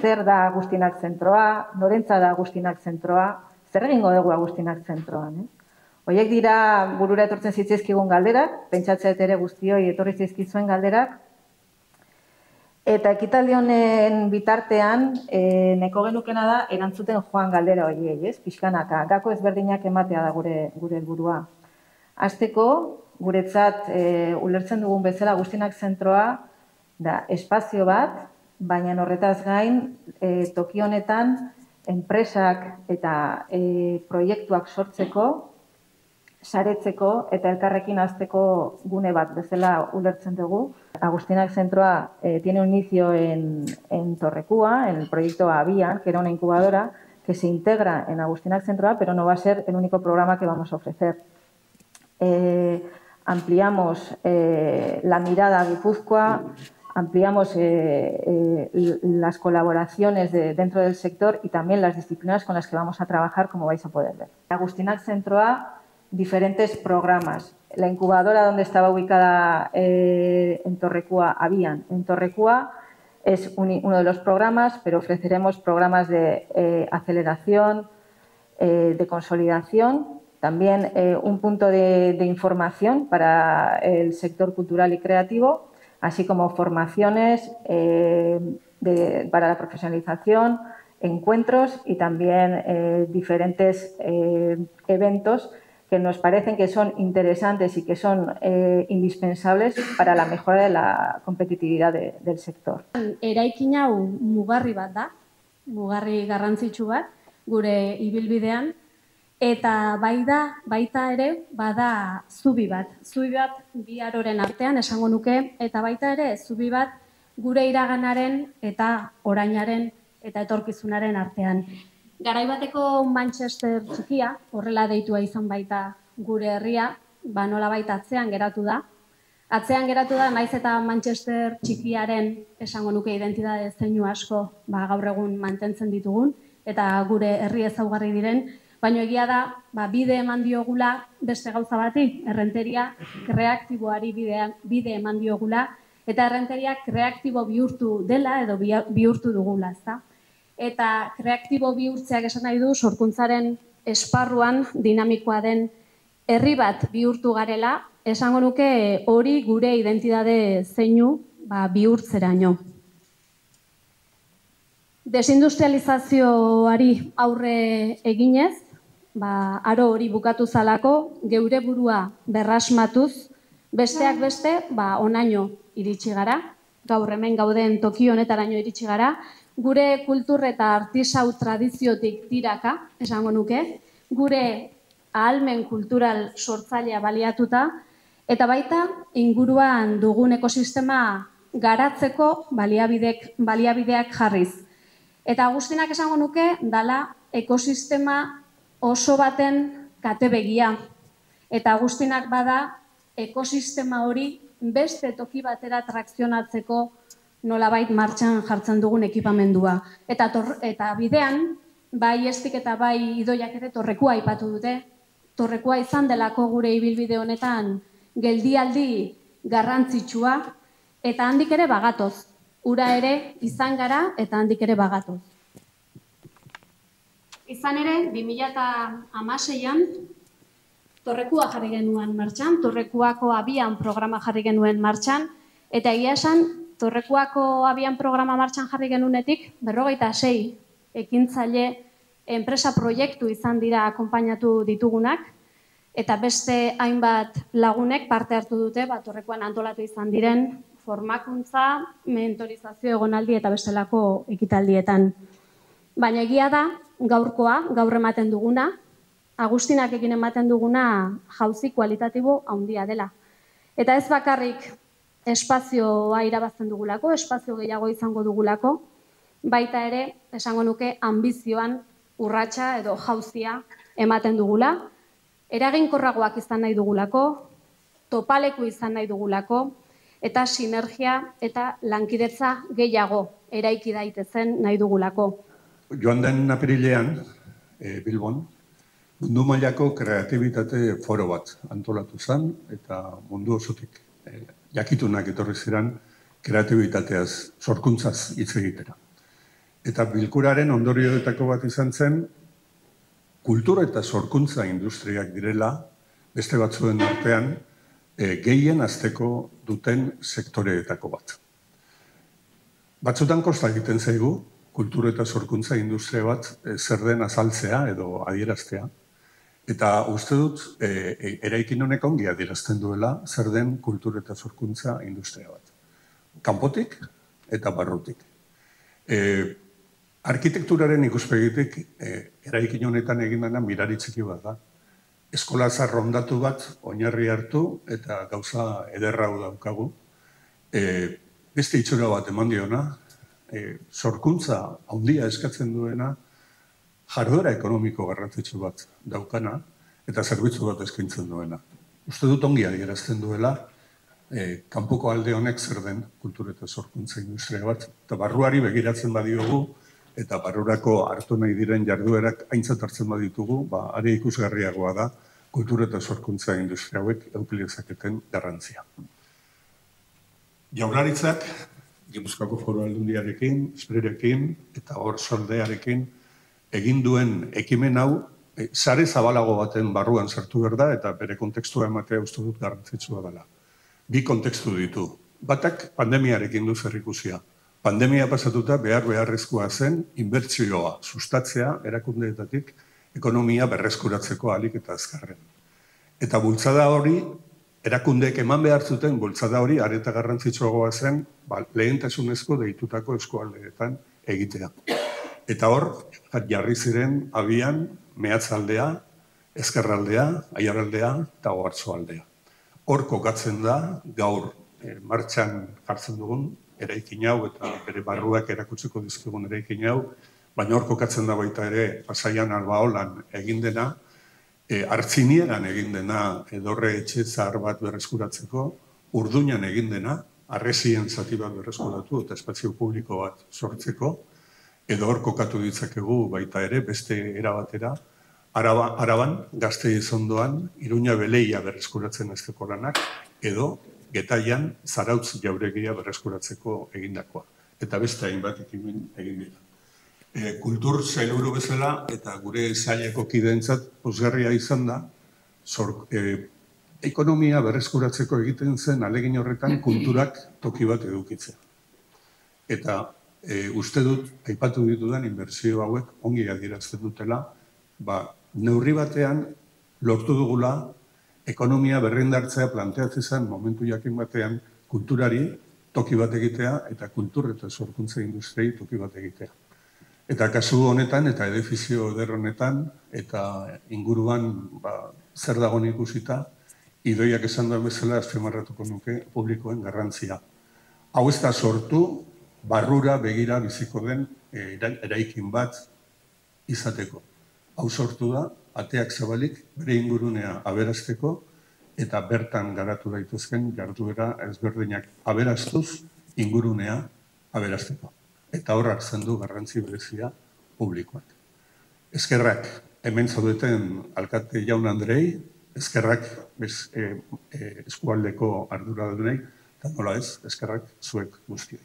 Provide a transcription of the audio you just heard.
Zer da Agustinak zentroa, norentza da Agustinak zentroa, zer egingo dugu Agustinak zentroan. Horiek dira burura etortzen zitzaizkigun galderak, pentsatzea ere guztioi etorri zaizkizuen galderak, eta ekitaldi honen bitartean, nahiko genukena da erantzuten joan galdera horiei, pixkanaka, gako ezberdinak ematea da gure helburua. Hasteko, guretzat ulertzen dugun bezala Agustinak zentroa da espazio bat, baina horretaz gain, toki honetan, enpresak eta proiektuak sortzeko, saretzeko eta elkarrekin hazteko gune bat bezala ulertzen dugu. Agustinak Centroa tiene un inicio en Torrecua, en el proyecto Avian, que era una incubadora que se integra en Agustinak Centroa, pero no va a ser el único programa que vamos a ofrecer. Ampliamos la mirada a Guipúzcoa, ampliamos las colaboraciones dentro del sector y también las disciplinas con las que vamos a trabajar, como vais a poder ver. Agustinak Centroa, diferentes programas. La incubadora donde estaba ubicada en Torrecua, Avian. En Torrecua es uno de los programas, pero ofreceremos programas de aceleración, de consolidación, también un punto de información para el sector cultural y creativo, así como formaciones para la profesionalización, encuentros y también diferentes eventos que nos parecen que son interesantes y que son indispensables para la mejora de la competitividad del sector. Eraikin hau mugarri bat da, mugarri garrantzitsu bat, gure ibilbidean, eta baita ere bada zubi bat bi aroren artean esango nuke, eta baita ere zubi bat gure iraganaren eta orainaren eta etorkizunaren artean. Garaibateko Manchester txikia, horrela deitua izan baita gure herria, nolabait atzean geratu da. Atzean geratu da, naiz eta Manchester txikiaren esango nuke identitate zeinu asko gaur egun mantentzen ditugun, eta gure herri ezaugarri diren, baina egia da, bide eman diogula beste gauza bati, errenteria kreatiboari bide eman diogula, eta errenteria kreatibo bihurtu dela edo bihurtu dugula, ezta? Eta kreatibo bihurtzeak esan nahi du sorkuntzaren esparruan dinamikoa den herri bat bihurtu garela, esango nuke hori gure identitate zeinu bihurtzeraino. Desindustrializazioari aurre eginez, aro hori bukatu zalako, geure burua berrasmatuz, besteak beste, onaino iritsi gara, gaur hemen gauden toki honetaraino iritsi gara, gure kultur eta artisau tradiziotik tiraka, esango nuke, gure ahalmen kultural sortzailea baliatuta, eta baita inguruan dugun ekosistema garatzeko baliabideak jarriz. Eta Agustinak esango nuke, dala ekosistema oso baten katebegia. Eta Agustinak bada ekosistema hori beste toki batera trakzionatzeko nolabait martxan jartzen dugun ekipamendua. Eta bidean, bai estik eta bai idoiak ere Torrekua aipatu dute. Torrekua izan delako gure ibilbide honetan geldialdi garrantzitsua, eta handik ere bagatoz. Ura ere izan gara eta handik ere bagatoz. Izan ere, 2016an Torrekua jarri genuen martxan, Torrekuako Abian programa jarri genuen martxan, eta egia esan, Torrekuako Abian programa martxan jarri genunetik, 46 ekintzaile enpresa proiektu izan dira akonpainatu ditugunak, eta beste hainbat lagunek parte hartu dute, Torrekuan antolatu izan diren formakuntza, mentorizazio egonaldi eta bestelako ekitaldietan. Baina egia da, gaur ematen duguna, Agustinak ekin ematen duguna jauzi kualitatibo handia dela. Eta ez bakarrik espazioa irabazten dugulako, espazio gehiago izango dugulako, baita ere, esango nuke, anbizioan urratsa edo jauzia ematen dugula, eraginkorragoak izan nahi dugulako, topaleku izan nahi dugulako, eta sinergia eta lankidetza gehiago eraiki daitezen nahi dugulako. Joan den apirilean, Bilbon, mundu mailako kreatibitate foro bat antolatu zen, eta mundu osotik jakitunak etorri ziren kreatibitateaz, sorkuntzaz hitz egitera. Eta bilkuraren ondorioetako bat izan zen, kultura eta sorkuntza industriak direla, beste batzuen artean, gehien azteko duten sektoreetako bat. Batzutan kosta egiten zaigu, kultura eta sorkuntza industria bat zer den azaltzea edo adieraztea. Eta uste dut, eraikin honek ongi adierazten duela zer den kultura eta sorkuntza industria bat. Kanpotik eta barrutik. Arkitekturaren ikuspegitik, eraikin honetan egin dena mirari txiki bat da. Eskola zarrondatu bat oinarri hartu eta gauza ederra hau daukagu. Beste itxura bat eman diona, sorkuntza handia eskatzen duena, jarduera ekonomiko garrantzitsu bat daukana eta zerbitzu bat eskaintzen duena. Uste dut ongi adierazten duela, kanpoko alde honek zer den kultura eta sorkuntza industria bat, eta barruari begiratzen badiogu, eta barrurako hartu nahi diren jarduerak aintzat hartzen baditugu, are ikusgarriagoa da kultura eta sorkuntza industria hauek eduki dezaketen garrantzia. Jaurlaritzak, Gipuzkoako Foru Aldundiarekin, Sprerekin eta Oarsoaldearekin egin duen ekimen hau sare zabalago baten barruan sartu behar da eta bere kontekstua ematea uste dut garrantzitsua dela. Bi kontekstu ditu. Batak pandemiarekin du zerikusia. Pandemia pasatuta beharrezkoa zen inbertsioa sustatzea erakundeetatik ekonomia berreskuratzeko ahalik eta azkarren. Eta bultzada hori, erakundeek eman behar zuten bultzada hori areta garrantzitsuagoa zen lehentasunezko deitutako eskualdeetan egitea. Eta hor, jarri ziren abian mehatzaldea, ezkerraldea, aiaraldea eta ohartzoaldea. Hor kokatzen da, gaur martxan jartzen dugun, eraikin hau eta bere barruak erakutsiko dizkigun eraikin hau, baina hor kokatzen da baita ere Pasaian Albaolan egin dena, Artziniegan egin dena edorre etxe zahar bat berreskuratzeko, Urduñan egin dena, harresien zati bat berreskuratu eta espazio publiko bat sortzeko, edo hor kokatu ditzakegu baita ere beste erabatera, Araban, Gasteiz ondoan, Iruña Beleia berreskuratzen azteko lanak, edo Getaian Zarautz jauregia berreskuratzeko egindakoa. Eta beste hainbat ekimen egin dira. Kultur sailburu bezala eta gure saileko kideentzat pozgarria izan da, ekonomia berreskuratzeko egiten zen ahalegin horretan kulturak toki bat edukitzea. Eta uste dut, aipatu ditudan inbertsio hauek ongi adierazten dutela, neurri batean lortu dugula ekonomia berrindartzea planteatzen zen momentu jakin batean kulturari toki bat egitea eta kultur eta sorkuntza industriei toki bat egitea. Eta kasu honetan eta edifizio eder honetan eta inguruan zer dagoen ikusita, Idoiak esan duen bezala azpimarratuko nuke publikoen garrantzia. Hau ez da sortu, barrura begira biziko den eraikin bat izateko. Hau sortu da, ateak zabalik bere ingurunea aberasteko eta bertan garatu daitezken jarduera ezberdinak aberastuz ingurunea aberasteko. Eta hor hartzen du garrantzi berezia publikoak. Eskerrak hemen zaudeten alkate jaun Andrei, eskerrak eskualdeko arduradunei, eta nola ez, eskerrak zuek guztioi.